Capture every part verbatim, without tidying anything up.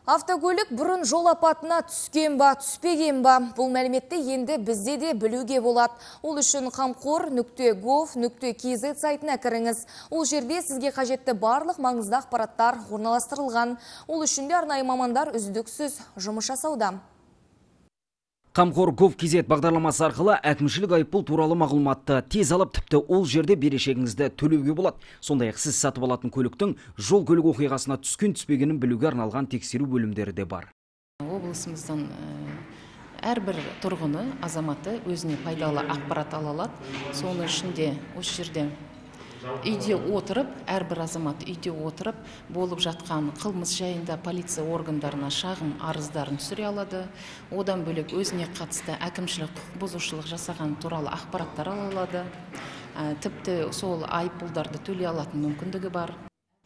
Автокөлік бұрын жол апатына түскен ба, түспеген ба? Бұл мәліметті енді бізде де білуге болады. Ол үшін қамқор нүкте гов нүкте кз сайтына кіріңіз. Ол жерде сізге қажетті барлық маңызды ақпараттар орналастырылған. Ол үшін де арнайы мамандар үздіксіз жұмыс жасауда. Қамқор гов кз бағдарламасы арқылы әкімшілік айыппұл туралы мағлұматты тез алып, тіпті ол жерде берешегіңізді төлеуге болады. Сондай-ақ сіз сатып алатын көліктің жол көлік оқиғасына түскен түспегенін білуге арналған тексеру бөлімдері де бар. Облысымыздан әрбір тұрғыны, азаматы өзіне пайдалы ақпарат ала алады. Соның ішінде осы жерде үйде отырып, әрбір азамат үйде отырып, болып жатқан қылмыс жайында полиция органдарына шағым арыздарын түсіре алады. Одан бөлек өзіне қатысты әкімшілік құқық бұзушылық жасаған туралы ақпараттар ала алады. Тіпті сол айыппұлдарды төлей алатын мүмкіндігі бар.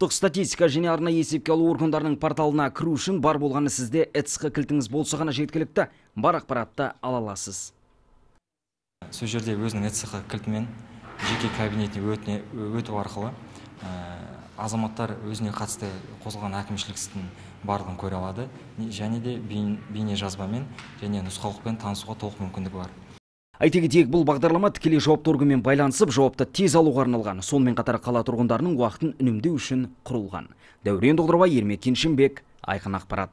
Статистика және арнайы есепке алу органдарының порталына кіру үшін бар болғаны сізде ЭЦХ кілтіңіз болса ғана жеткілікті, бар ақпаратты ала аласыз. Сол жерде өзінің ЭЦХ кілтімен жеке кабинетіне өту арқылы азаматтар өзіне қатысты қозғалған әкімшілік істің барлығын көре алады, және де бейне жазбамен және нұсқаулықпен танысуға толық мүмкіндігі бар. Айта кетейік, бұл бағдарлама тікелей жауапты органмен байланысып, жауапты тез алуға арналған. Сонымен қатар қала тұрғындарының уақытын үнемдеу үшін құрылған. Дәурен Доғдырбай, Ермек Кеншімбек, Айқын ақпарат.